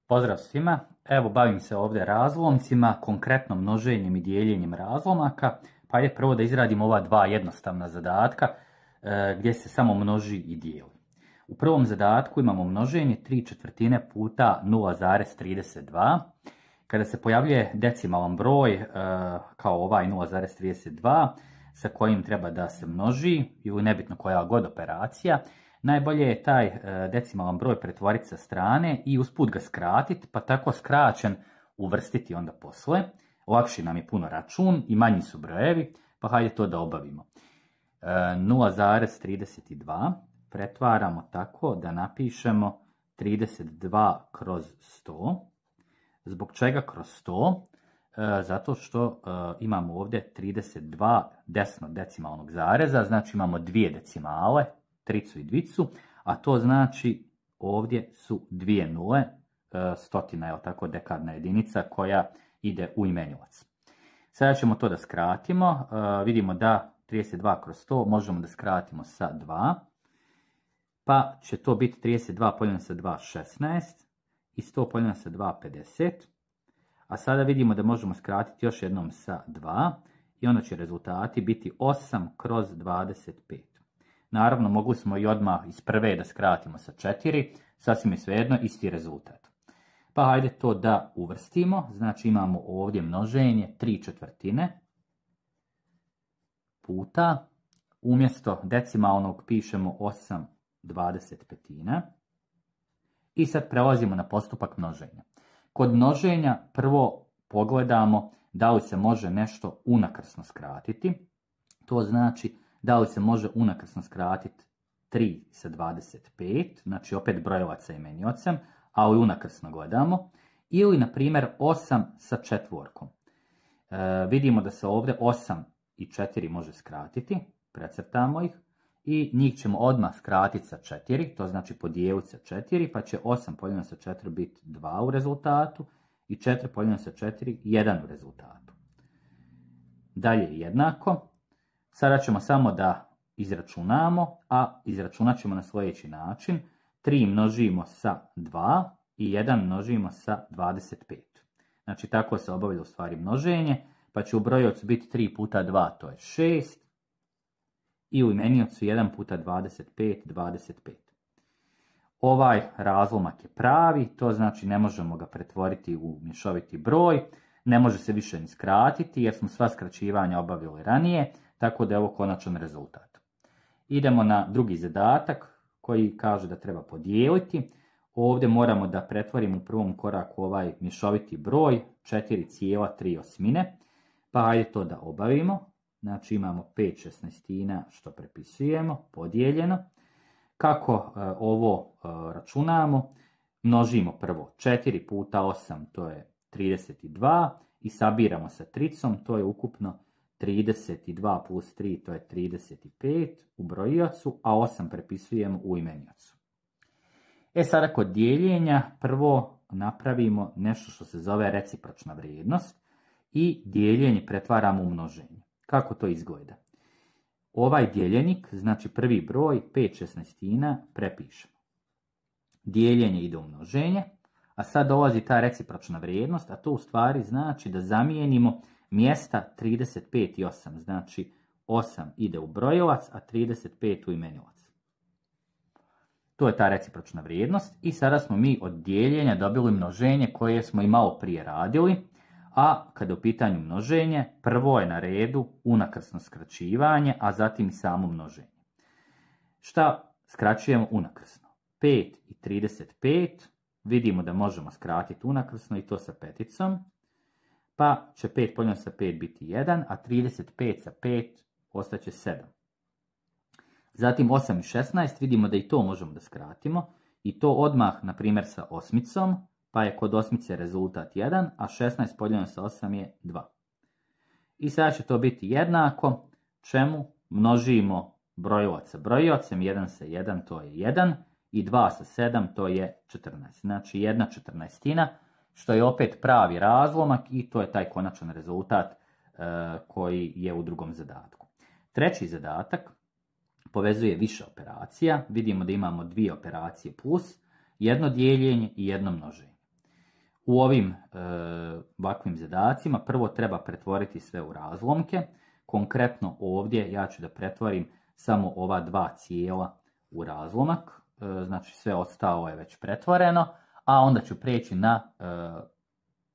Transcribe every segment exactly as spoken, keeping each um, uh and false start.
Pozdrav svima, evo bavim se ovdje razlomcima, konkretno množenjem i dijeljenjem razlomaka, pa je prvo da izradimo ova dva jednostavna zadatka e, gdje se samo množi i dijeli. U prvom zadatku imamo množenje tri četvrtine puta nula zarez trideset dva. Kada se pojavljuje decimalan broj e, kao ovaj nula zarez trideset dva sa kojim treba da se množi ili nebitno koja god operacija, najbolje je taj decimalan broj pretvoriti sa strane i usput ga skratiti, pa tako skraćen uvrstiti onda posle. Lakši nam je puno račun i manji su brojevi, pa hajde to da obavimo. nula zarez trideset dva pretvaramo tako da napišemo trideset dva kroz sto. Zbog čega kroz sto? Zato što imamo ovdje trideset dva desno decimalnog zareza, znači imamo dvije decimale, tricu i dvicu, a to znači ovdje su dvije nule, stotina je tako dekadna jedinica koja ide u imenilac. Sada ćemo to da skratimo, vidimo da trideset dva kroz sto možemo da skratimo sa dva, pa će to biti trideset dva podijeljeno sa dva, šesnaest, i sto podijeljeno sa dva, pedeset, a sada vidimo da možemo skratiti još jednom sa dva, i onda će rezultati biti osam kroz dvadeset pet. Naravno, mogli smo i odmah iz prve da skratimo sa četiri, sasvim je svejedno, isti rezultat. Pa hajde to da uvrstimo, znači imamo ovdje množenje tri četvrtine puta, umjesto decimalnog pišemo osam dvadeset petina i sad prelazimo na postupak množenja. Kod množenja prvo pogledamo da li se može nešto unakrsno skratiti, to znači da li se može unakrsno skratiti tri sa dvadeset pet, znači opet brojevac sa imeniocem, ali unakrsno gledamo, ili na primjer osam sa četvorkom. E, vidimo da se ovdje osam i četiri može skratiti, precrtamo ih, i njih ćemo odmah skratiti sa četiri, to znači podijeliti sa četiri, pa će osam podijeljeno sa četiri biti dva u rezultatu, i četiri podijeljeno sa četiri, jedan u rezultatu. Dalje je jednako. Sada ćemo samo da izračunamo, a izračunat ćemo na sljedeći način. tri množimo sa dva i jedan množimo sa dvadeset pet. Znači tako se obavlja u stvari množenje, pa će u brojevcu biti tri puta dva, to je šest, i u imeniocu jedan puta dvadeset pet, dvadeset pet. Ovaj razlomak je pravi, to znači ne možemo ga pretvoriti u mješoviti broj, ne može se više ni skratiti jer smo sva skraćivanja obavili ranije, tako da je ovo konačan rezultat. Idemo na drugi zadatak koji kaže da treba podijeliti. Ovdje moramo da pretvorimo u prvom koraku ovaj mješoviti broj četiri zarez tri osmine, pa hajde to da obavimo. Znači imamo pet šesnaestina što prepisujemo, podijeljeno. Kako e, ovo e, računamo? Množimo prvo četiri puta osam, to je trideset dva, i sabiramo sa tricom, to je ukupno trideset dva plus tri, to je trideset pet u brojiocu, a osam prepisujemo u imeniocu. E sada kod dijeljenja prvo napravimo nešto što se zove recipročna vrijednost i dijeljenje pretvaramo u množenje. Kako to izgleda? Ovaj dijeljenik, znači prvi broj, pet šesnaestina, prepišemo. Dijeljenje ide u množenje, a sad dolazi ta recipročna vrijednost, a to u stvari znači da zamijenimo mjesta trideset pet i osam, znači osam ide u brojilac, a trideset pet u imenilac. To je ta recipročna vrijednost i sada smo mi od dijeljenja dobili množenje koje smo i malo prije radili, a kada je u pitanju množenje, prvo je na redu unakrsno skraćivanje, a zatim i samo množenje. Šta skraćujemo unakrsno? pet i trideset pet, vidimo da možemo skratiti unakrsno i to sa peticom, pa će pet podijeljeno sa pet biti jedan, a trideset pet sa pet ostaće sedam. Zatim osam i šesnaest, vidimo da i to možemo da skratimo, i to odmah, na primjer, sa osmicom, pa je kod osmice rezultat jedan, a šesnaest podijeljeno sa osam je dva. I sada će to biti jednako, čemu množimo brojilac sa brojilacem, jedan sa jedan, to je jedan, i dva sa sedam, to je četrnaest. Znači jedna četrnaestina, što je opet pravi razlomak i to je taj konačan rezultat e, koji je u drugom zadatku. Treći zadatak povezuje više operacija. Vidimo da imamo dvije operacije plus, jedno dijeljenje i jedno množenje. u ovim e, ovakvim zadacima prvo treba pretvoriti sve u razlomke. Konkretno ovdje ja ću da pretvorim samo ova dva cijela u razlomak, e, znači sve ostalo je već pretvoreno, a onda ću preći na e,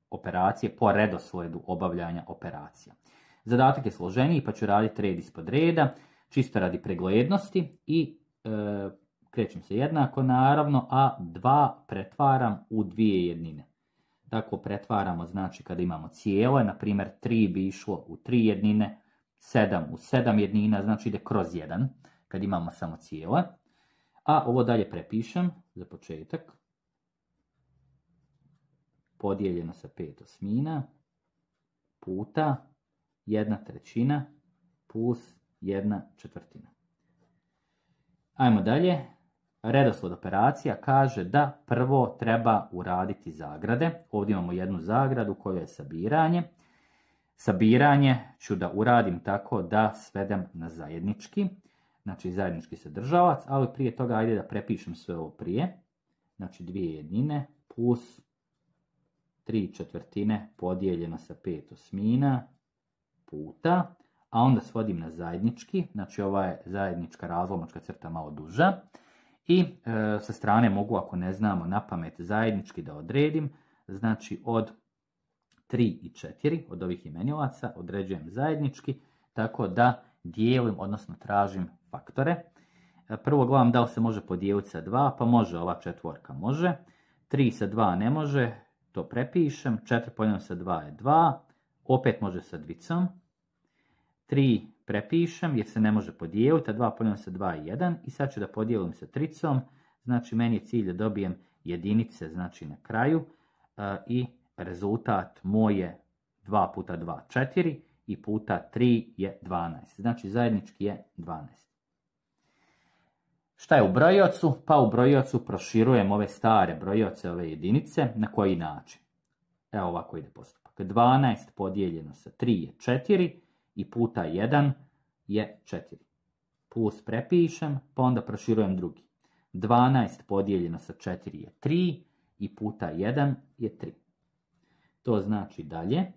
operacije po redoslijedu obavljanja operacija. Zadatak je složeniji pa ću raditi red ispod reda, čisto radi preglednosti i e, krećem se jednako naravno, a dva pretvaram u dvije jednine. Tako pretvaramo, znači kada imamo cijele, na primjer tri bi išlo u tri jednine, sedam u sedam jednina, znači ide kroz jedan, kad imamo samo cijele. A ovo dalje prepišem za početak. Podijeljeno sa pet osmina puta jedna trećina plus jedna četvrtina. Ajmo dalje. Redoslijed operacija kaže da prvo treba uraditi zagrade. Ovdje imamo jednu zagradu koja je sabiranje. Sabiranje ću da uradim tako da svedem na zajednički. Znači zajednički sadržavac, ali prije toga ajde da prepišem sve ovo prije. Znači dvije jednine plus tri četvrtine podijeljeno sa pet osmina puta, a onda svodim na zajednički, znači ova je zajednička razlomačka crta malo duža. I e, sa strane mogu, ako ne znamo na pamet zajednički, da odredim, znači od tri i četiri, od ovih imenilaca, određujem zajednički, tako da dijelim, odnosno tražim faktore. E, prvo gledam da li se može podijeliti sa dva, pa može, ova četvorka može. tri sa dva ne može, to prepišem, četiri podijeljeno sa dva je dva, opet može sa dvicom. tri prepišem jer se ne može podijeliti, a dva podijeljeno sa dva je jedan. I sad ću da podijelim sa tricom, znači meni je cilj da dobijem jedinice, znači na kraju. E, I rezultat moj je dva puta dva, četiri i puta tri je dvanaest. Znači zajednički je dvanaest. Šta je u brojiocu? Pa u brojiocu proširujem ove stare brojioce, ove jedinice. Na koji način? Evo ovako ide postupak. dvanaest podijeljeno sa tri je četiri i puta jedan je četiri. Plus prepišem, pa onda proširujem drugi. dvanaest podijeljeno sa četiri je tri i puta jedan je tri. To znači dalje.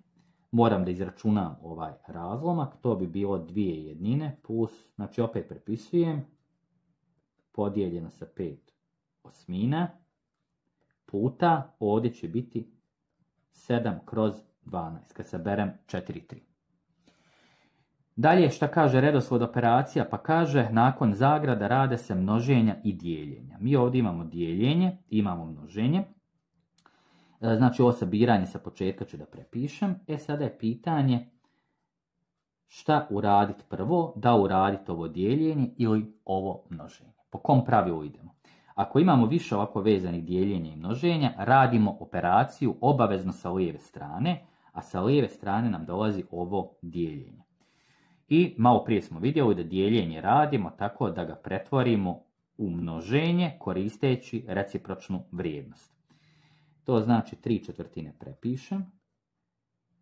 Moram da izračunam ovaj razlomak. To bi bilo dvije jednine plus, znači opet prepisujem, podijeljeno sa pet osmina puta, ovdje će biti sedam kroz dvanaest, kad saberem četiri i tri. Dalje šta kaže redoslijed operacija? Pa kaže nakon zagrada rade se množenja i dijeljenja. Mi ovdje imamo dijeljenje, imamo množenje. Znači ovo sabiranje sa početka ću da prepišem. E sada je pitanje šta uraditi prvo, da uraditi ovo dijeljenje ili ovo množenje. Po kom pravilu idemo? Ako imamo više ovako vezanih dijeljenja i množenja, radimo operaciju obavezno sa lijeve strane, a sa lijeve strane nam dolazi ovo dijeljenje. I malo prije smo vidjeli da dijeljenje radimo tako da ga pretvorimo u množenje koristeći recipročnu vrijednost. To znači tri četvrtine prepišem,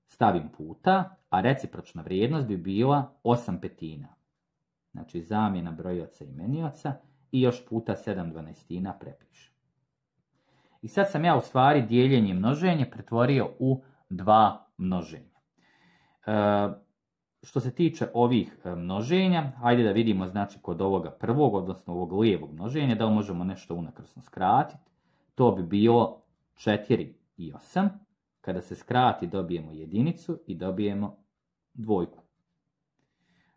stavim puta, a recipročna vrijednost bi bila osam petina. Znači zamjena brojioca i imenioca i još puta sedam dvanaestina prepišem. I sad sam ja u stvari dijeljenje i množenje pretvorio u dva množenja. E, što se tiče ovih množenja, hajde da vidimo znači kod ovoga prvog, odnosno ovog lijevog množenja, da li možemo nešto unakrsno skratiti. To bi bilo četiri i osam. Kada se skrati dobijemo jedinicu i dobijemo dvojku.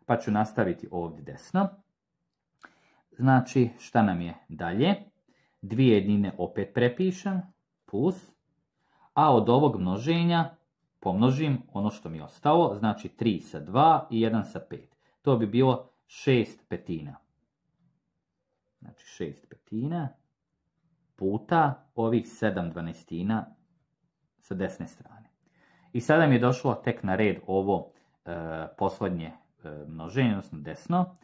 Pa ću nastaviti ovdje desno. Znači šta nam je dalje? Dvije jednine opet prepišem, plus, a od ovog množenja pomnožim ono što mi je ostalo, znači tri sa dva i jedan sa pet. To bi bilo šest petina. Znači šest petina puta ovih sedam dvanaestina sa desne strane. I sada mi je došlo tek na red ovo e, posljednje e, množenje, odnosno desno.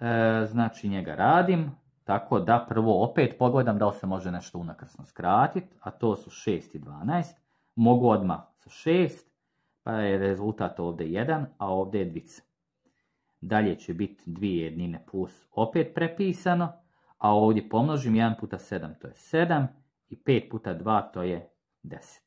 E, znači njega radim tako da prvo opet pogledam da li se može nešto unakrsno skratiti, a to su šest i dvanaest. Mogu odmah sa šest, pa je rezultat ovdje jedan, a ovdje je dvica. Dalje će biti dvije jednine plus opet prepisano, a ovdje pomnožim jedan puta sedam, to je sedam, i pet puta dva, to je deset.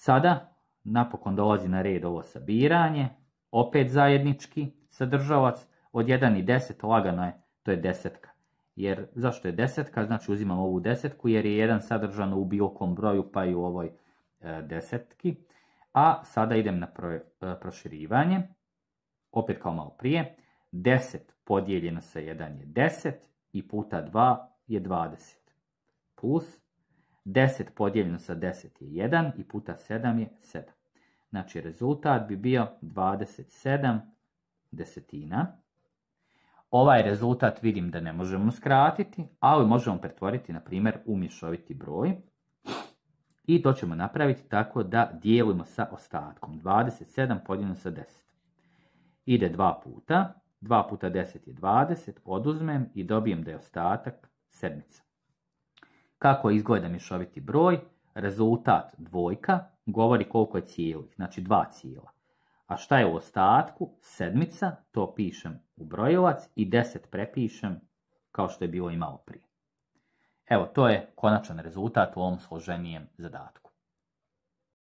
Sada napokon dolazi na red ovo sabiranje, opet zajednički sadržavac, od jedan i deset lagano je, to je desetka. Jer zašto je desetka? Znači uzimam ovu desetku jer je jedan sadržan u bilo kom broju pa i u ovoj e, desetki. A sada idem na pro, e, proširivanje, opet kao malo prije, deset podijeljeno sa jedan je deset i puta dva je dvadeset. Plus deset podijeljeno sa deset je jedan i puta sedam je sedam. Znači rezultat bi bio dvadeset sedam desetina. Ovaj rezultat vidim da ne možemo skratiti, ali možemo pretvoriti, na primjer, u mješoviti broj. I to ćemo napraviti tako da dijelimo sa ostatkom. dvadeset sedam podijeljeno sa deset. Ide dva puta. dva puta deset je dvadeset. Oduzmem i dobijem da je ostatak sedmica. Kako izgleda mješoviti broj? Rezultat dvojka govori koliko je cijelih, znači dva cijela. A šta je u ostatku? Sedmica, to pišem u brojilac i deset prepišem kao što je bilo i malo prije. Evo, to je konačan rezultat u ovom složenijem zadatku.